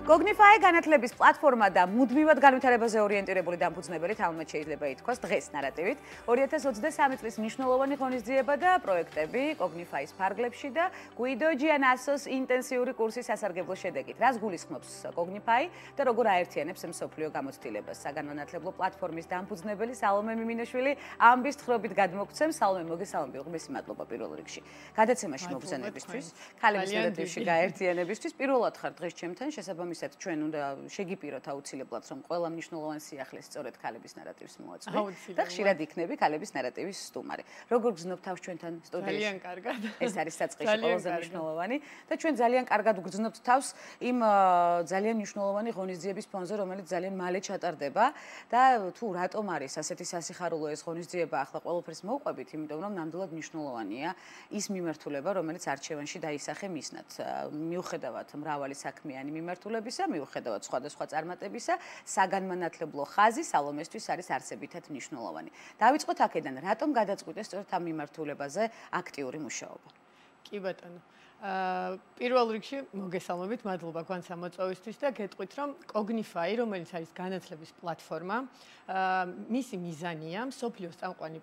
Cognify განათლების პლატფორმა და მუდმივად განვითარებაზე ორიენტირებული დამფუძნებელი თამამად შეიძლება ითქვას დღეს ნარატივით 2023 წლის მნიშვნელოვანი ღონისძიება და პროექტები Cognify-ის ფარგლებში და Guido Gianassos ინტენსიური კურსის სასარგებლო შედეგით. Რას გულისხმობს Cognify და როგორ აერთიანებს მსოფლიო გამოცდილებას? საგანმანათლებლო პლატფორმის დამფუძნებელი სალომე მიმინაშვილი ამბის თხრობით გადმოგცემს. სალომე, მოგესალმები, უღმესი მადლობა პირველ რიგში. გადაცემაში მობრძანებისთვის, ქალების ნარატივში გაერთიანებისთვის. პირველად ხარ დღეს ჩემთან შესაბამისად ჩვენ უნდა შეგიპიროთ აუცილებლად რომ ყველა მნიშვნელოვანი სიახლეს სწორედ ქალების ნარატივს მოაწვევ და ხშირად იქნები ქალების ნარატივის სტუმარი. როგორ გრძნობ თავს ჩვენთან სტუდიაში? ძალიან კარგად. ეს არის საწყისში ყველაზე მნიშვნელოვანი და ჩვენ ძალიან კარგად ვგრძნობთ თავს იმ ძალიან მნიშვნელოვანი ღონისძიების ფონზე, რომელიც ძალიან მალე ჩატარდება და თუ რატომ არის ასეთი სასიხარულო ეს ღონისძიება ახლა ყველაფერს მოვყვებით, იმიტომ რომ ნამდვილად მნიშვნელოვანია ის მიმართულება, რომელიც არჩევანში დაისახე მისნად. მიუხედავად მრავალი საქმიანი მიმართულებისა, მიუხედავად სხვადასხვა წარმატებისა, საგანმანათლებლო ხაზი სალომესთვის არის არსებითად მნიშვნელოვანი. დავიწყოთ აქედან, რატომ გადაწყვიტეს სწორედ ამ მიმართულებაზე აქტიური მუშაობა? კი ბატონო. პირველ რიგში მოგესალმებით, მადლობა გვანც ამოწვევისთვის და გეტყვით რომ Cognify, რომელიც არის განათლების პლატფორმა, მისი მიზანია მსოფლიოს წამყვანი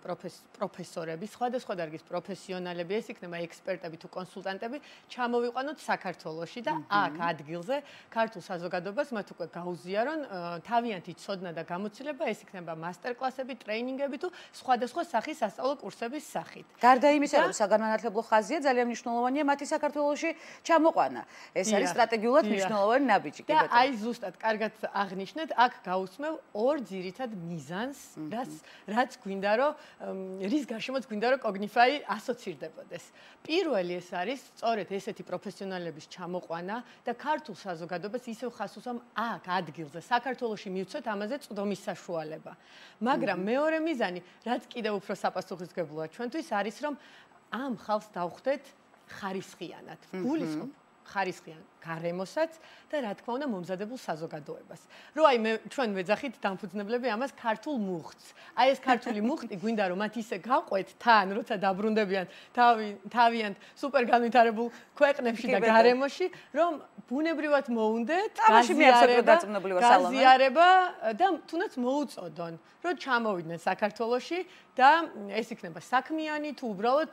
პროფესორები, სხვადასხვა დარგის პროფესიონალები, ეს იქნება ექსპერტები თუ კონსულტანტები, ჩამოვიყვანოთ საქართველოში და აქ ადგილზე ქართულ საზოგადოებას მათ უკვე გაუზიარონ თავიანთი ცოდნა და გამოცდილება, ეს იქნება მასტერკლასები, ტრეინინგები თუ სხვადასხვა სახის სასწავლო კურსების სახით. გარდა იმისა, რომ საგანმანათლებლო ხაზია, ძალიან მნიშვნელოვანია მათი საქართველოში ჩამოყვანა. ეს არის სტრატეგიულად მნიშვნელოვანი ნაბიჯი. და აი ზუსტად კარგად აღნიშნეთ, აქ გაუსმევ ორ ძირითად მიზანს, რაც გვინდა რომ რის გარშემოც გვინდა რომ Cognify ასოცირდებოდეს. პირველი ეს არის სწორედ ესეთი პროფესიონალების ჩამოყვანა და ქართულ საზოგადოებას ისევ ხას უსვამ აქ ადგილზე საქართველოში მივცეთ ამაზე წვდომის საშუალება. მაგრამ მეორე მიზანი, რაც კიდევ უფრო საპასუხისმგებლოა ჩვენთვის არის რომ ამ ხალხს დავხვდეთ ხარისხიანად. გულისხმობ ხარისხიან გარემოსაც და რა თქმა უნდა მომზადებულ საზოგადოებას. რო აი ჩვენ ვეძახით დამფუძნებლები ამას ქართულ მუხტს. აი ეს ქართული მუხტი გვინდა რომ მათ ისე გავყვეთ თან, როცა დაბრუნდებიან თავიანთ სუპერ განვითარებულ ქვეყნებში და გარემოში, რომ ბუნებრივად მოუნდეთ გაზიარება და თუნდაც მოუწოდონ, რომ ჩამოვიდნენ საქართველოში და ეს იქნება საქმიანი თუ უბრალოდ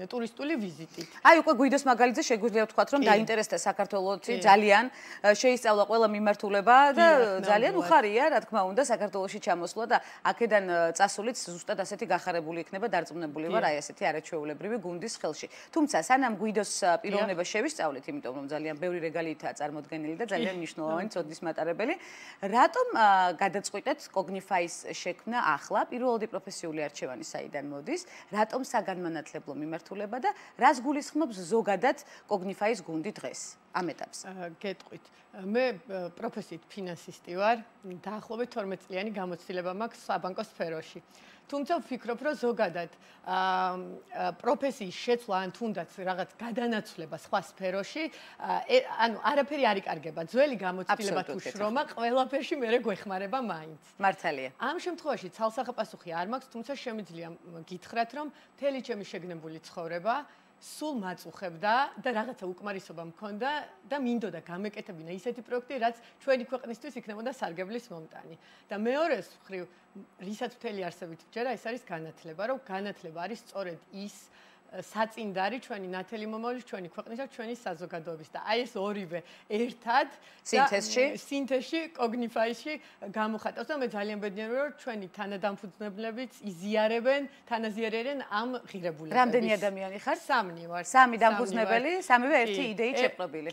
ტურისტული ვიზიტით. აი უკვე გვიდოს მაგალითზე შეგვიძლია ვთქვათ რომ დაინტერესდა საქართველოში ძალიან შეისწავლა ყველა მიმართულება და ძალიან უხარია რა თქმა უნდა საქართველოში ჩამოსვლა და აქედან წასულიც ზუსტად ასეთი გახარებული იქნება დარწმუნებული ვარ აი ასეთი არაჩვეულებრივი გუნდის ხელში. თუმცა სანამ გვიდოს პიროვნება შევისწავლეთ, იმიტომ რომ ძალიან ბევრი რეგალიითაა წარმოდგენილი და ძალიან მნიშვნელოვანი წოდის მატარებელი, რატომ გადაწყვიტეთ Cognify-ის შექმნა ახლა პირველადი პროფესიული არჩევანი საიდან მოდის, რატომ საგანმანათლებლო მიმართულება და რას გულისხმობს ზოგადად Cognify-ის გუნდი დღეს ამ ეტაპზე? გეტყვით. მე პროფესიით ფინანსისტი ვარ, დაახლოებით 12 წლიანი გამოცდილება მაქვს საბანკო სფეროში. თუმცა ვფიქრობ, რომ ზოგადად პროფესიის შეცვლა ან თუნდაც რაღაც გადანაცვლება სხვა სფეროში, ანუ არაფერი არ იკარგება. ძველი გამოცდილება თუ შრომა, ყველაფერში მერე გვეხმარება მაინც. მართალია. ამ შემთხვევაში ცალსახა პასუხი არ მაქვს, თუმცა შემიძლია გითხრათ, რომ მთელი ჩემი შეგნებული ცხოვრება სულ მაწუხებდა და რაღაცა უკმარისობა მქონდა და მინდოდა გამეკეთებინა ისეთი პროექტი, რაც ჩვენი ქვეყნისთვის იქნებოდა სარგებლის მომტანი. და მეორეს მხრივ, რისაც მთელი არსებით ვჯერა, ეს არის განათლება, რომ განათლება არის სწორედ ის საწინდარი ჩვენი ნათელი მომავლის, ჩვენი ქვეყნის და ჩვენი საზოგადოების და აი ეს ორივე ერთად სინთეზში Cognify-ში გამოხატავს და მე ძალიან ბედნიერი ვარ, რომ ჩვენი თანადამფუძნებლებიც თანაზიარებენ ამ ღირებულებებს. რამდენი ადამიანი ხარ? 3 ვარ. 3 დამფუძნებელი, სამივე ერთი იდეით შეპყრობილი.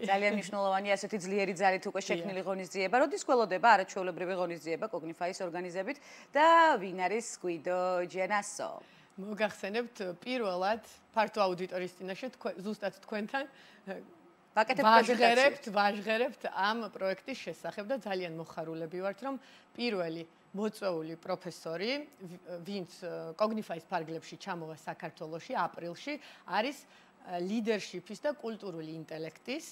ძალიან მნიშვნელოვანია ასეთი ძლიერი ძალით უკვე შექმნილი ღონისძიება. როდის გველოდება არაჩვეულებრივი ღონისძიება Cognify-ის ორგანიზებით და ვინ არის Guido Gianasso? მოგახსენებთ პირველად ფართო აუდიტორიის წინაშე ზუსტად თქვენთან ვაჟღერებთ ამ პროექტის შესახებ და ძალიან მოხარულები ვართ რომ პირველი მოწვეული პროფესორი ვინც Cognify-ის ფარგლებში ჩამოვა საქართველოში აპრილში არის leadership-ის და კულტურული ინტელექტის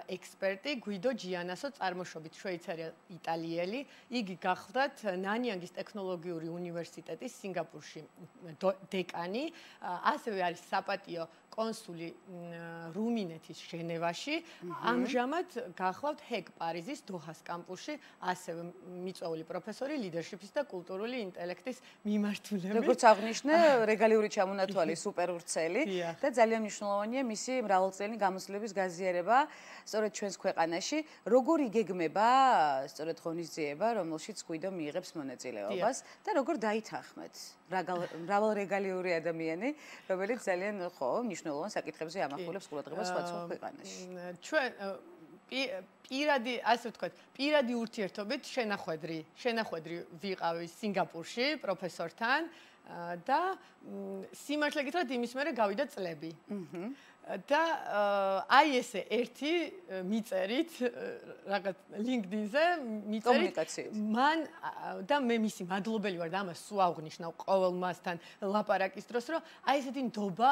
ექსპერტი გვიდო ჯიანასო წარმოშობით შვეიცარია-იტალიელი. იგი გახლდათ ნანიანგის ტექნოლოგიური უნივერსიტეტის სინგაპურში დეკანი, ასევე არის საპატიო კონსული რუმინეთის ჟენევაში. ამჟამად გახლავთ ჰეკ პარიზის დოჰას კამპუსში, ასევე მიწვეული პროფესორი ლიდერშიპის და კულტურული ინტელექტის მიმართულებით. როგორც აღნიშნე, რეგალიური ჩამონათვალი სუპერ ვრცელი და ძალიან მნიშვნელოვანია მისი მრავალწლიანი გამოცდილების გაზიარება სწორედ ჩვენს ქვეყანაში. როგორ იგეგმება სწორედ ღონისძიება, რომელშიც გვიდო მიიღებს მონაწილეობას და როგორ დაითანხმეთ მრავალრეგალიური ადამიანი, რომელიც ძალიან მნიშვნელოვან საკითხებზე ამახვილებს ყურადღებას სხვა ქვეყანაში. ჩვენ პირადი, ასე ვთქვათ, პირადი ურთიერთობით შენახვედრი ვიყავი სინგაპურში პროფესორთან და სიმართლე გითხრათ, იმის მერე გავიდა წლები. და აი ესე ერთი მიწერით რაღაც LinkedIn-ზე მიწერით მან და მე მისი მადლობელი ვარ და ამას სულ აღნიშნავ ყოველ მასთან ლაპარაკის დროს, რომ აი ესეთი ნდობა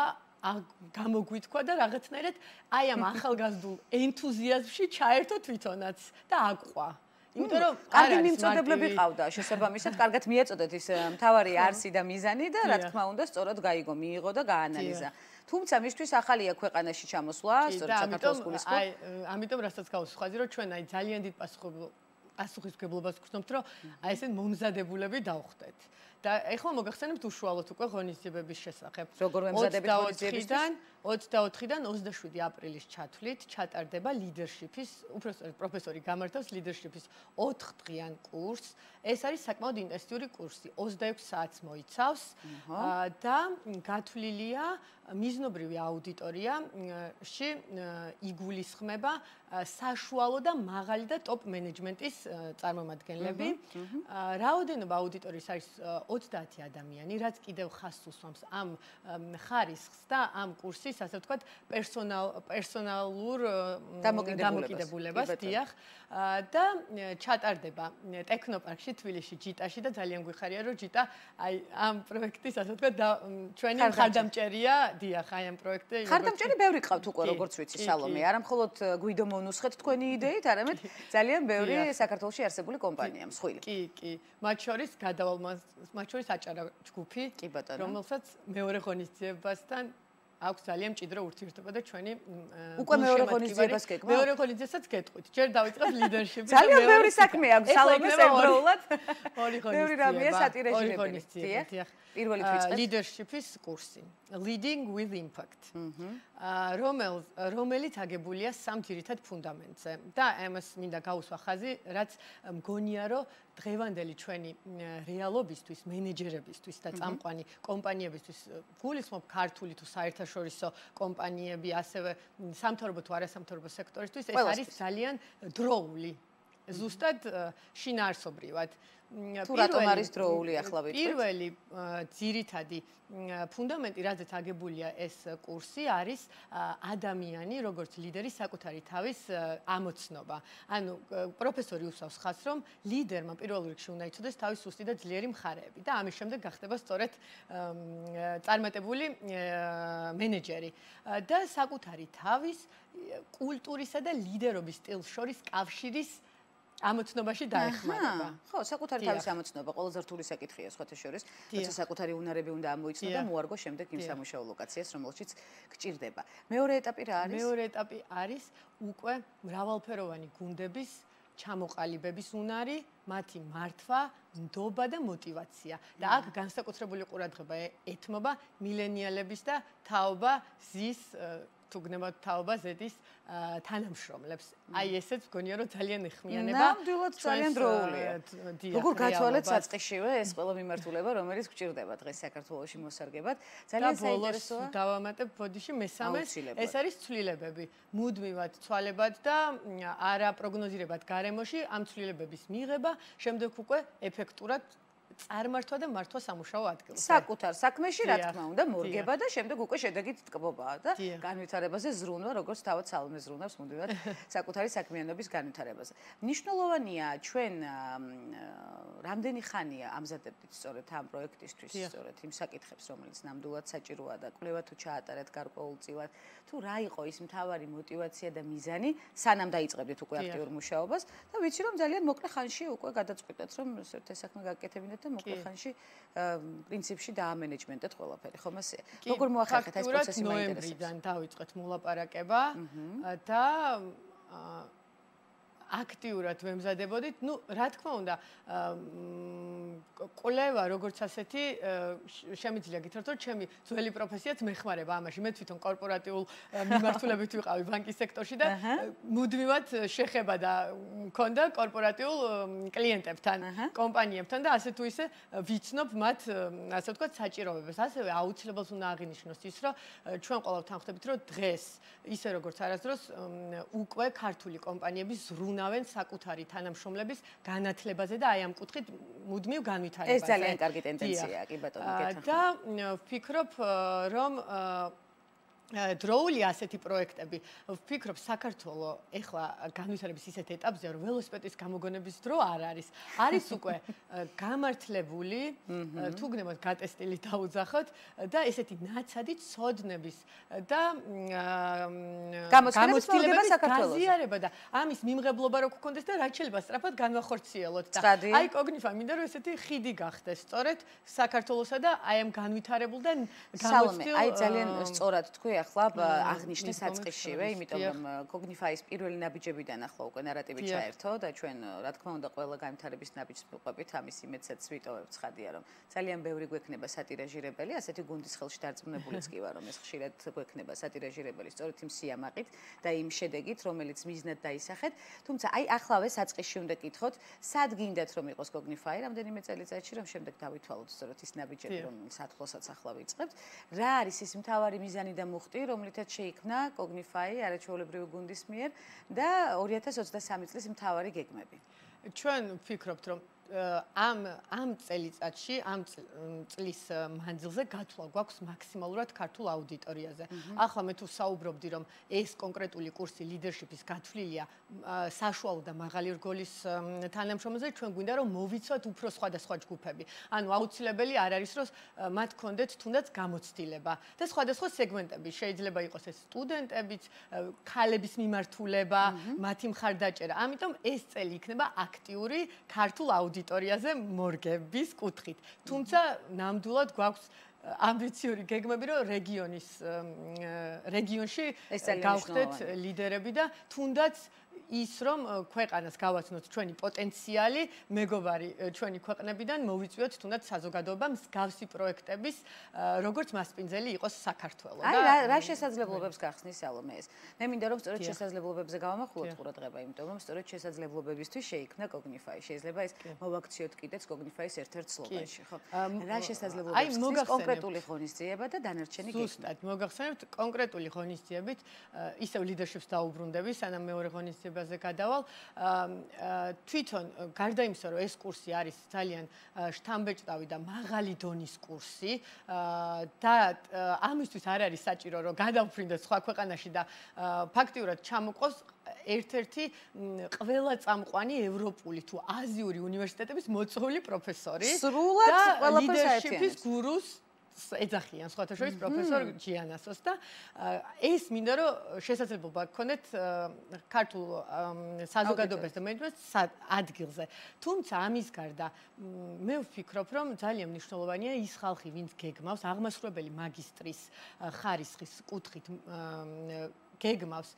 გამოგვითქვა და რაღაცნაირად აი ამ ახალგაზრდულ ენთუზიაზმში ჩაერთო თვითონაც და აყვა. იმიტომ რომ კარგი მიმწოდებლები ყავდა შესაბამისად, კარგად მიეწოდეთ ის მთავარი არსი და მიზანი და რა თქმა უნდა სწორად გაიგო, მიიღო და გაანალიზა. თუმცა მისთვის ახალია ქვეყანაში ჩამოსვლა, სწორედ საქართველოს გულისხმობ. ამიტომ რასაც გავუსხაზი, რომ ჩვენ აი ძალიან დიდ პასუხისმგებლობას გვქონთ, რომ აი ესე მომზადებულები დავხდეთ. და ეხლა მოგახსენებთ უშუალოდ უკვე ღონისძიებების შესახებ. როგორ მემზადებით ღონისძიებისთვის? 24-დან 27 აპრილის ჩათვლით ჩატარდება ლიდერშიპის, უბრალოდ პროფესორი გამართავს ლიდერშიპის 4-დღიან კურსს. ეს არის საკმაოდ ინტენსიური კურსი, 26 საათს მოიცავს და გათვლილია მიზნობრივი აუდიტორიაში იგულისხმება საშუალო და მაღალი და ტოპ მენეჯმენტის წარმომადგენლები. რაოდენობა აუდიტორიის არის 30 ადამიანი, რაც კიდევ ხაზს უსვამს ამ ხარისხს და ამ კურსის, ასე ვთქვათ, პერსონალურ დამოკიდებულებას, დიახ. და ჩატარდება ტექნოპარკში, თბილისში, ჯიტაში და ძალიან გვიხარია, რომ ჯიტა აი ამ პროექტის, ასე ვთქვათ, ჩვენი მხარდამჭერია, დიახ, აი ამ პროექტზე. მხარდამჭერი ბევრი ყავთ უკვე, როგორც ვიცი, სალომე. არა მხოლოდ გვიდო მონუსხეთ თქვენი იდეით, არამედ ძალიან ბევრი საქართველოში არსებული კომპანია, მსხვილი. კი. მათ შორის მათ შორის აჭარა ჯგუფი, რომელსაც მეორე ღონისძიებასთან აქვს ძალიან მჭიდრო ურთიერთობა და ჩვენი უკვე მეორე ღონისძიებას გეკმა? მეორე ღონისძიებას გეტყვით. ჯერ დავიწყებ ლიდერშიპი. ძალიან ბევრი საქმე აქვს სალომეს ერთდროულად. ორი ღონისძიება. ბევრი რამეა სატირაჟირებული. დიახ. პირველი ვიწყეთ. ლიდერშიპის კურსი. Leading with Impact. რომელიც აგებულია სამ ძირითად ფუნდამენტზე და ამას მინდა გავუსვა ხაზი, რაც მგონია, რომ დღევანდელი ჩვენი რეალობისთვის, მენეჯერებისთვის და წამყვანი კომპანიებისთვის, გულისხმობ ქართული თუ საერთაშორისო კომპანიები, ასევე სამთავრობო თუ არასამთავრობო სექტორისთვის, ეს არის ძალიან დროული. ზუსტად შინაარსობრივად. თუ რატომ არის დროული ახლა ვიტყვით? პირველი ძირითადი ფუნდამენტი, რაზეც აგებულია ეს კურსი, არის ადამიანი, როგორც ლიდერი საკუთარი თავის ამოცნობა. ანუ პროფესორი უსვავს ხაზს, რომ ლიდერმა პირველ რიგში უნდა იცოდეს თავის სუსტი და ძლიერი მხარეები და ამის შემდეგ გახდება სწორედ წარმატებული მენეჯერი და საკუთარი თავის კულტურისა და ლიდერობის სტილს შორის კავშირის ამოცნობაში დაეხმარება. ხო, საკუთარი თავის ამოცნობა ყველაზე რთული საკითხია სხვათა შორის, როცა საკუთარი უნარები უნდა ამოიცნო და მოარგო შემდეგ იმ სამუშაო ლოკაციას, რომელშიც გჭირდება. მეორე ეტაპი რა არის? მეორე ეტაპი არის უკვე მრავალფეროვანი გუნდების ჩამოყალიბების უნარი, მათი მართვა, ნდობა და мотиваცია. და აქ განსაკუთრებული ყურადღება ეთმობა მილენიალების და თაობა ზის თუ გნებავთ თაობა ზედის თანამშრომლებს. აი ესეც მგონია, რომ ძალიან ეხმიანება. ნამდვილად ძალიან დროულია. როგორ გაცვალეთ საწყისშივე ეს ყველა მიმართულება, რომელიც გჭირდება დღეს საქართველოში მოსარგებად. ძალიან საინტერესოა. დავამატებ ბოდიში მესამეს, ეს არის ცვლილებები. მუდმივად ცვალებად და არაპროგნოზირებად გარემოში ამ ცვლილებების მიღება, შემდეგ უკვე ეფექტურად წარმართვა და მართვა სამუშაო ადგილზე. საკუთარ საქმეში რა თქმა უნდა მორგება და შემდეგ უკვე შედეგით ტკბობაა და განვითარებაზე ზრუნვა, როგორც თავად სალომე ზრუნავს მუდმივად საკუთარი საქმიანობის განვითარებაზე. მნიშვნელოვანია ჩვენ რამდენი ხანია ამზადებდით სწორედ ამ პროექტისთვის, სწორედ იმ საკითხებს, რომელიც ნამდვილად საჭიროა და კვლევა თუ ჩაატარეთ გარკვეულწილად, თუ რა იყო ის მთავარი мотиваცია და მიზანი, სანამ დაიწყებდით უკვე აქტიურ მუშაობას და ვიცი რომ ძალიან მოკლე ხანში უკვე გადაწყვიტეთ რომ ეს საქმე გაკეთებინეთ და მოკლე ხანში პრინციპში დაამენეჯმენტეთ ყველაფერი, ხომ ასე? როგორ მოახერხეთ ეს პროცესი მაინტერესებს? ნოემბრიდან დავიწყეთ მოლაპარაკება და აქტიურად ვემზადებოდით. ნუ რა თქმა უნდა, კვლევა როგორც ასეთი შემიძლია გითხრათ, რომ ჩემი ძველი პროფესიაც მეხმარება ამაში. მე თვითონ კორპორატიულ მიმართულებით ვიყავი ბანკის სექტორში და მუდმივად შეხება და მქონდა კორპორატიულ კლიენტებთან, კომპანიებთან და ასე თუ ისე ვიცნობ მათ, ასე ვთქვათ, საჭიროებებს. ასევე აუცილებლად უნდა აღინიშნოს ის, რომ ჩვენ ყოველთვის თანხმდებით, რომ დღეს ისე როგორც არასდროს უკვე ქართული კომპანიები ზრუნავენ საკუთარი თანამშრომლების განათლებაზე და აი ამ კუთხით მუდმივ განვითარებაზე. ეს ძალიან კარგი ტენდენციაა, კი ბატონო, გეთანხმებით. და ვფიქრობ, რომ დროული ასეთი პროექტები, ვფიქრობ, საქართველოს ეხლა განვითარების ისეთ ეტაპზეა, რომ ველოსიპედის გამოგონების დრო არ არის. არის უკვე გამართლებული, თუ გნებოთ გატესტილი დაუძახოთ და ესეთი ნაცადი ცოდნების და გამოცდილება საქართველოს. გაზიარება და ამის მიმღებლობა რო გქონდეს და რაც შეიძლება სწრაფად განვახორციელოთ და აი კოგნიფა მინდა რომ ესეთი ხიდი გახდეს სწორედ საქართველოსა და აი ამ განვითარებულ და გამოცდილ აი ძალიან სწორად თქვი ახლა აღნიშნე საწყისშივე, იმიტომ რომ კოგნიფაის პირველი ნაბიჯებიდან ახლა უკვე ნარატივი ჩაერთო და ჩვენ რა თქმა უნდა ყველა განვითარების ნაბიჯს მივყვებით, ამის იმედსაც ვიტოვებთ ცხადია რომ ძალიან ბევრი გვექნება სატირაჟირებელი, ასეთი გუნდის ხელში დარწმუნებულიც კი ვარ რომ ეს ხშირად გვექნება სატირაჟირებელი სწორედ იმ სიამაყით და იმ შედეგით, რომელიც მიზნად დაისახეთ, თუმცა აი ახლავე საწყისში უნდა გითხოთ, სად გინდათ რომ იყოს კოგნიფაი რამდენიმე წელიწადში რომ შემდეგ დავითვალოთ სწორედ ის ნაბიჯები რომ სათქლოსაც ახლა ვიწყებთ, რა არის ის მთავარი მიზანი და მუხტი რომლითაც შეიქმნა კოგნიფაი არაჩვეულებრივი გუნდის მიერ და 2023 წლის მთავარი გეგმები. ჩვენ ვფიქრობთ, რომ ამ წელიწადში, ამ წლის მანძილზე გათვლა გვაქვს მაქსიმალურად ქართულ აუდიტორიაზე. ახლა მე თუ საუბრობდი, რომ ეს კონკრეტული კურსი ლიდერშიპის გათვლილია საშუალო და მაღალი რგოლის თანამშრომლებზე, ჩვენ გვინდა რომ მოვიცვათ უფრო სხვადასხვა ჯგუფები. ანუ აუცილებელი არ არის, რომ მათ კონდეთ თუნდაც გამოცდილება და სხვადასხვა სეგმენტები. შეიძლება იყოს ეს სტუდენტებიც, ქალების მიმართულება, მათი მხარდაჭერა. ამიტომ ეს წელი იქნება აქტიური ქართულ აუდიტორიაზე მორგების კუთხით. თუმცა ნამდვილად გვაქვს ამბიციური გეგმები, რომ რეგიონში გავხდეთ ლიდერები და თუნდაც ის რომ ქვეყანას გავაცნოთ ჩვენი პოტენციალი, მეგობარი ჩვენი ქვეყნებიდან მოვიწვიოთ თუნდაც საზოგადოება მსგავსი პროექტების როგორც მასპინძელი იყოს საქართველო და აი რა შესაძლებლობებს გახსნის სალომე ეს. მე მინდა რომ სწორედ შესაძლებლობებზე გავამახვილოთ ყურადღება, იმიტომ რომ სწორედ შესაძლებლობებისთვის შეიქმნა კოგნიფაი. შეიძლება ეს მოვაქციოთ კიდეც კოგნიფაის ერთ-ერთ სლოგანში, ხო? რა შესაძლებლობებს გახსნის კონკრეტული ღონისძიება და დანარჩენი გეგმა. ზუსტად, მოგახსენებთ კონკრეტული ღონისძიებით, ისევ ლიდერშიპს დაუბრუნდები, სანამ მეორე ღონისძიებაზე გადავალ. თვითონ გარდა იმისა, რომ ეს კურსი არის ძალიან შთამბეჭდავი და მაღალი დონის კურსი და ამისთვის არ არის საჭირო, რომ გადავფრინდეთ სხვა ქვეყანაში და ფაქტიურად ჩამოყოს ერთ-ერთი ყველა წამყვანი ევროპული თუ აზიური უნივერსიტეტების მოწვეული პროფესორი სრულად ყველაფერს ლიდერშიპის გურუს ეძახიან სხვათა შორის პროფესორ ჯიანასოს და ეს მინდა რომ შესაძლებლობა გქონდეთ ქართულ საზოგადოებას და მეჯლისს ადგილზე. თუმცა ამის გარდა მე ვფიქრობ, რომ ძალიან მნიშვნელოვანია ის ხალხი, ვინც გეგმავს აღმასრულებელი მაგისტრის ხარისხის კუთხით გეგმავს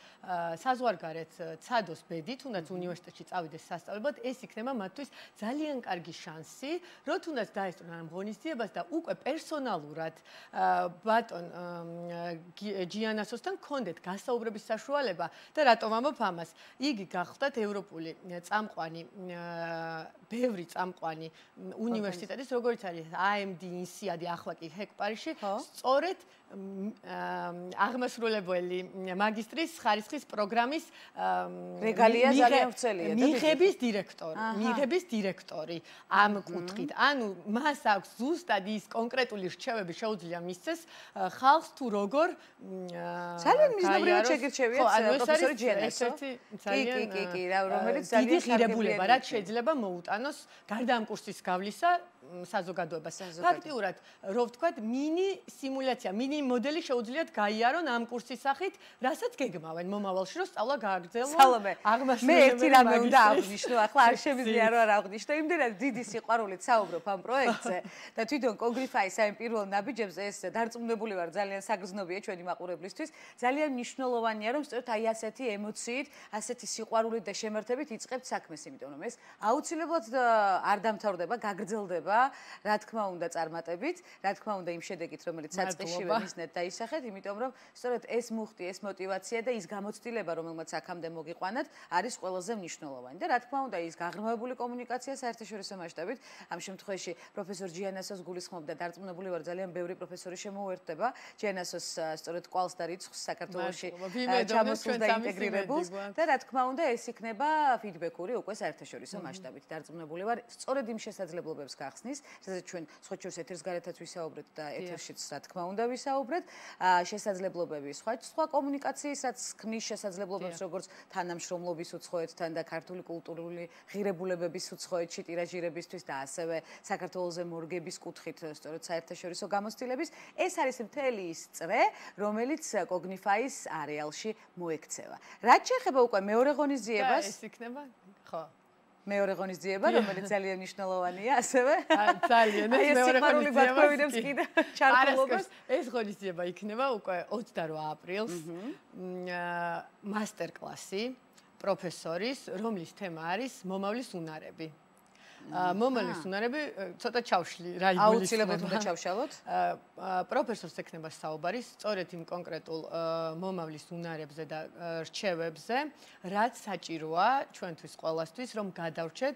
საზღვარგარეთ ცადოს ბედი, თუნდაც უნივერსიტეტში წავიდეს სასწავლებლად, ეს იქნება მათთვის ძალიან კარგი შანსი, რომ თუნდაც დაესწრონ ამ ღონისძიებას და უკვე პერსონალურად ბატონ ჯიანასოსთან კონდეთ გასაუბრების საშუალება და რატომ ამბობ ამას? იგი გახლდათ ევროპული წამყვანი ბევრი წამყვანი უნივერსიტეტის, როგორც არის AMD, INSEAD, ახლა კი HEC Paris-ში, სწორედ აღმასრულებელი მაგისტრის ხარისხის პროგრამის რეგალია ძალიან ვრცელია და მიღების დირექტორი ამ კუთხით. ანუ მას აქვს ზუსტად ის კონკრეტული რჩევები შეუძლია მისცეს ხალხს თუ როგორ ძალიან მიზნობრივად შეგირჩევიათ პროფესორი ჯიანესო. კი, რომელიც ძალიან დიდი ღირებულება რაც შეიძლება მოუტანოს გარდა ამ კურსის გავლისა საზოგადოებას. ფაქტიურად, რო ვთქვათ, მინი სიმულაცია, მინი მოდელი შეუძლიათ გაიარონ ამ კურსის სახით, რასაც გეგმავენ მომავალში, რომ სწავლა გააგრძელონ. სალომე, მე ერთი რამე უნდა აღვნიშნო, ახლა არ შემიძლია რომ არ აღვნიშნო, იმდენად დიდი სიყვარულით საუბრობ ამ პროექტზე და თვითონ კოგნიფაის ამ პირველ ნაბიჯებზე ეს დარწმუნებული ვარ, ძალიან საგრძნობია ჩვენი მაყურებლისთვის. ძალიან მნიშვნელოვანია, რომ სწორედ აი ასეთი ემოციით, ასეთი სიყვარულით და შემართებით იწყებთ საქმეს, იმიტომ რომ ეს აუცილებლად არ დამთავრდება, გაგრძელდება. რა თქმა უნდა წარმატებით, რა თქმა უნდა იმ შედეგით, რომელიც საწყისშივე მისნეთ დაისახეთ, იმიტომ რომ სწორედ ეს მუხტი, ეს мотиваცია და ის გამოცდილება, რომელმაც აქამდე მოგიყვანათ, არის ყველაზე მნიშვნელოვანი. და რა თქმა უნდა, ის გაღრმავებული კომუნიკაცია საერთაშორისო მასშტაბით, ამ შემთხვევაში პროფესორ ჯიანასოს გულისხმობ და დარწმუნებული ვარ, ძალიან ბევრი პროფესორი შემოუერთდება ჯიანასოს სწორედ კვალს და რიცხვს საქართველოში ჩამოსულ და ინტეგრირებულს და რა თქმა უნდა, ეს იქნება ფიდბექური უკვე საერთაშორისო მასშტაბით. დარწმუნებული ვარ, სწორედ იმ შესაძლებლობებს გახსნით სადაც ჩვენ სხვა შორის ეთერს გარეთაც ვისაუბრეთ და ეთერშიც რა თქმა უნდა ვისაუბრეთ შესაძლებლობები სხვა კომუნიკაციის რაც ქმნის შესაძლებლობებს როგორც თანამშრომლობის უცხოეთთან და ქართული კულტურული ღირებულებების უცხოეთში ტირაჟირებისთვის და ასევე საქართველოს მორგების კუთხით სწორედ საერთაშორისო გამოცდილების ეს არის მთელი ის წრე რომელიც კოგნიფაის არეალში მოექცევა რაც შეეხება უკვე მეორე ღონისძიებას ეს იქნება ხო მეორე ღონისძიება, რომელიც ძალიან მნიშვნელოვანია, ასევე. ძალიან ეს მეორე ღონისძიება. ჩართულობას. ეს ღონისძიება იქნება უკვე 28 აპრილს. მასტერკლასი პროფესორის, რომლის თემა არის მომავლის უნარები. მომავლის უნარები ცოტა ჩავშლი რა იგულისხმება. აუცილებლად უნდა ჩავშალოთ. პროფესორს ექნება საუბარი სწორედ იმ კონკრეტულ მომავლის უნარებზე და რჩევებზე, რაც საჭიროა ჩვენთვის ყველასთვის, რომ გადავრჩეთ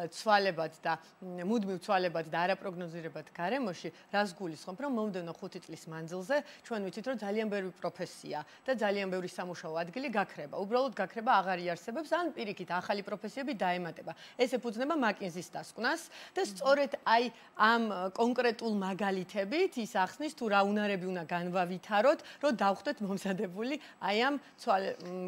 ცვალებად და მუდმივ ცვალებად და არაპროგნოზირებად გარემოში, რაც გულისხმობ, რომ მომდევნო 5 წლის მანძილზე ჩვენ ვიცით, რომ ძალიან ბევრი პროფესია და ძალიან ბევრი სამუშაო ადგილი გაქრება. უბრალოდ გაქრება აღარ იარსებებს, ან პირიქით ახალი პროფესიები დაემატება. ეს ეფუძნება მაკინზის დასკვნას და სწორედ აი ამ კონკრეტულ მაგალითებით ის ახსნის თუ რა უნარები უნდა განვავითაროთ, რომ დავხვდეთ მომზადებული აი ამ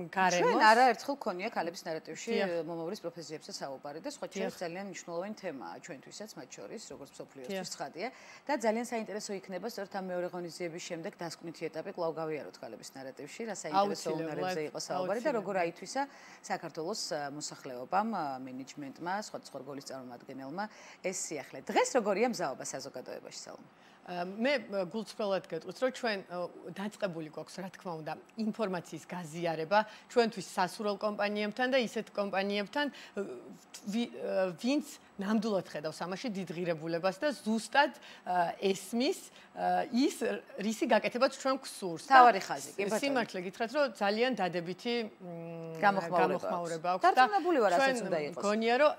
გარემოს. ჩვენ არაერთხელ ქონია ქალების ნარატივში მომავლის პროფესიებზე საუბარი და სხვა ჩვენს ძალიან მნიშვნელოვანი თემაა ჩვენთვისაც მათ შორის, როგორც მსოფლიოსთვის ცხადია და ძალიან საინტერესო იქნება სწორედ ამ მეორე ღონისძიების შემდეგ დასკვნითი ეტაპი კვლავ გავიაროთ ქალების ნარატივში, რა საინტერესო უნარებზე იყო საუბარი და როგორ აითვისა საქართველოს მოსახლეობამ, მენეჯმენტმა, სხვადასხვა რგოლის წარმომადგენელმა ეს სიახლე. დღეს როგორია მზაობა საზოგადოებაში სალომე? მე გულწრფელად გეტყვით, რომ ჩვენ დაწყებული გვაქვს, რა თქმა უნდა, ინფორმაციის გაზიარება ჩვენთვის სასურველ კომპანიებთან და ისეთ კომპანიებთან, ვინც ნამდვილად ხედავს ამაში დიდ ღირებულებას და ზუსტად ესმის ის რისი გაკეთებაც ჩვენ გვსურს. თავარი ხაზი, კი ბატონო. სიმართლე გითხრათ, რომ ძალიან დადებითი გამოხმაურება აქვს. დარწმუნებული ვარ, ასეც უნდა იყოს. გონია, რომ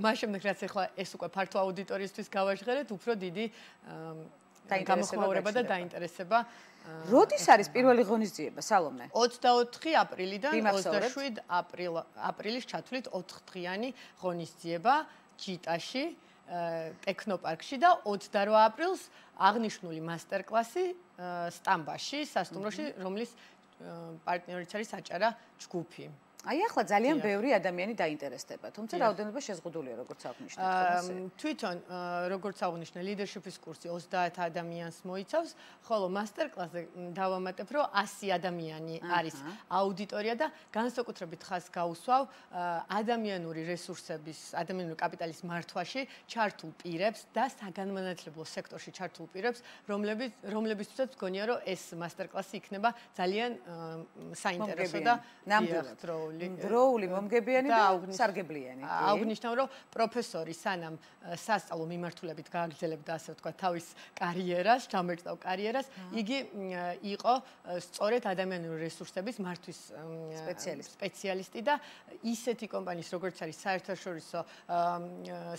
მას შემდეგ რაც ახლა ეს უკვე ფართო აუდიტორიისთვის გავაჟღერეთ, უფრო დიდი გამოხმაურება და დაინტერესება. როდის არის პირველი ღონისძიება, სალომე? 24 აპრილიდან 27 აპრილის ჩათვლით 4 დღიანი ღონისძიება ჯიტაში, ტექნოპარკში და 28 აპრილს აღნიშნული მასტერკლასი სტამბაში, სასტუმროში, რომლის პარტნიორიც არის აჭარა ჯგუფი. აი ახლა ძალიან ბევრი ადამიანი დაინტერესდება, თუმცა რაოდენობა შეზღუდულია, როგორც აღნიშნეთ. თვითონ როგორც აღნიშნე, ლიდერშიპის კურსი 30 ადამიანს მოიცავს, ხოლო მასტერკლასზე დავამატებ, რომ 100 ადამიანი არის აუდიტორია და განსაკუთრებით ხაზს გაუსვავ ადამიანური რესურსების, ადამიანური კაპიტალის მართვაში ჩართულ პირებს და საგანმანათლებლო სექტორში ჩართულ პირებს, რომლებისთვისაც მგონია, რომ ეს მასტერკლასი იქნება ძალიან საინტერესო და ნამდვილად. დროული მომგებიანი და სარგებლიანი. აღვნიშნავ, რომ პროფესორი სანამ სასწავლო მიმართულებით გააგრძელებდა, ასე ვთქვათ, თავის კარიერას, ჩამოერთდა კარიერას, იგი იყო სწორედ ადამიანური რესურსების მართვის სპეციალისტი და ისეთი კომპანიის, როგორც არის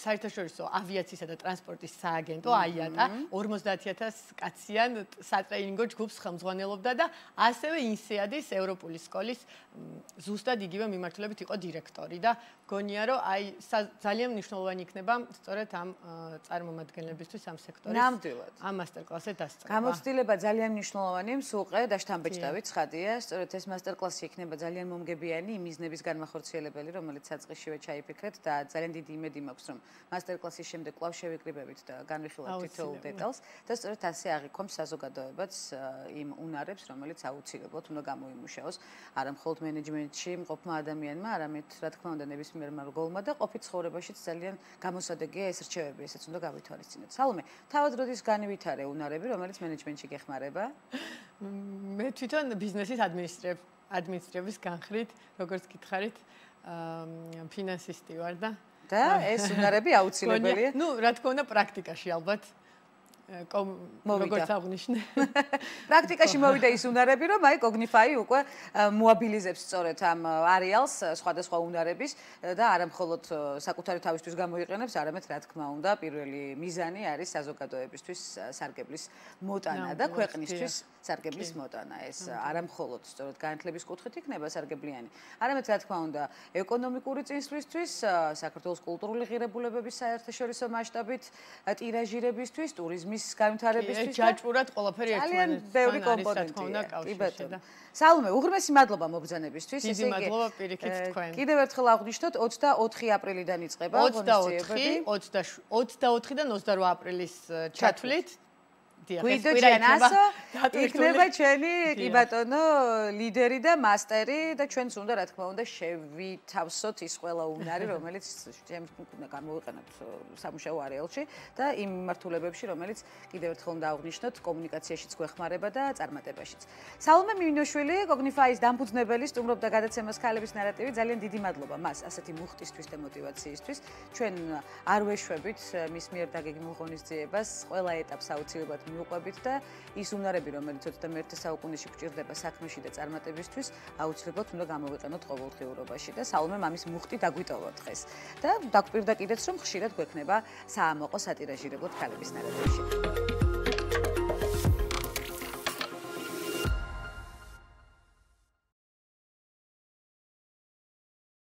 საერთაშორისო ავიაციისა და ტრანსპორტის სააგენტო IATA 50000 კაციან სატრეინინგო ჯგუფს ხელმძღვანელობდა და ასევე INSEAD-ის ევროპული სკოლის ზუსტად იგივე მიმართულებით იყო დირექტორი და გონია რომ აი ძალიან მნიშვნელოვანი იქნება სწორედ ამ წარმომადგენლებისთვის ამ სექტორის ნამდვილად ამ მასტერკლასზე დასწრება. გამოცდილება ძალიან მნიშვნელოვანი, მსუყე და შთამბეჭდავი ცხადია, სწორედ ეს მასტერკლასი იქნება ძალიან მომგებიანი იმ მიზნების განმახორციელებელი, რომელიც საწყისშივე ჩაიფიქრეთ და ძალიან დიდი იმედი მაქვს, რომ მასტერკლასის შემდეგ კვლავ შევიკრიბებით და განვიხილავთ თითოეულ დეტალს და სწორედ ასე აღიქვამს საზოგადოებაც იმ უნარებს, რომელიც აუცილებლად უნდა გამოიმუშაოს არა მხოლოდ მენეჯმენტში მყოფმა ადამიანმა, არამედ რა თქმა უნდა ნებისმიერმა რგოლმა და ყოფით ცხოვრებაშიც ძალიან გამოსადეგია ეს რჩევები, ესეც უნდა გავითვალისწინოთ. სალომე, თავად როდის განივითარე უნარები, რომელიც მენეჯმენტში გეხმარება? მე თვითონ ბიზნესის ადმინისტრების განხრით, როგორც გითხარით, ფინანსისტი ვარ და ეს უნარები აუცილებელია. ნუ, რა თქმა უნდა, პრაქტიკაში ალბათ როგორც აღნიშნე. პრაქტიკაში მოვიდა ის უნარები, რომ აი Cognify უკვე მოაბილიზებს სწორედ ამ არეალს სხვადასხვა უნარების და არა მხოლოდ საკუთარი თავისთვის გამოიყენებს, არამედ რა თქმა უნდა, პირველი მიზანი არის საზოგადოებისთვის სარგებლის მოტანა და ქვეყნისთვის სარგებლის მოტანა. ეს არა მხოლოდ სწორედ განათლების კუთხით იქნება სარგებლიანი, არამედ რა თქმა უნდა, ეკონომიკური წინსვლისთვის, საქართველოს კულტურული ღირებულებების საერთაშორისო მასშტაბით ტირაჟირებისთვის, ტურიზმის განვითარებისთვის ჯაჭვურად ყველაფერი ერთმანეთთან ბევრი კომპონენტია. სალომე, უღრმესი მადლობა მობრძანებისთვის. დიდი მადლობა პირიქით თქვენ. კიდევ ერთხელ აღვნიშნოთ 24 აპრილიდან იწყება ღონისძიებები. 24-დან 28 აპრილის ჩათვლით. გვიდოჯანასო იქნება ჩვენი კი ბატონო ლიდერი და მასტერი და ჩვენც უნდა რა თქმა უნდა შევითავსოთ ის ყველა უნარი რომელიც უნდა გამოვიყენოთ სამუშაო არეალში და იმ მიმართულებებში რომელიც კიდევ ერთხელ უნდა აღვნიშნოთ კომუნიკაციაშიც გვეხმარება და წარმატებაშიც. სალომე მინოშვილი Cognify-ის დამფუძნებელი სტუმრობდა გადაცემას ქალების ნარატივი. ძალიან დიდი მადლობა მას ასეთი მუხტისთვის და мотиваციისთვის. ჩვენ არ ვეშვებით მის მიერ დაგეგმილ ღონისძიებას ყველა ეტაპს აუცილებლად მიუყვებით და ის უნარები, რომელიც 21 საუკუნეში გვჭირდება საქმეში და წარმატებისთვის, აუცილებლად უნდა გამოვიყენოთ ყოველდღიურობაში და სალომე მამის მუხტი დაგვიტოვა დღეს. და დაგვპირდა კიდეც რომ ხშირად გვექნება საამაყო სატირაჟირებლად ქალების ნარატივში.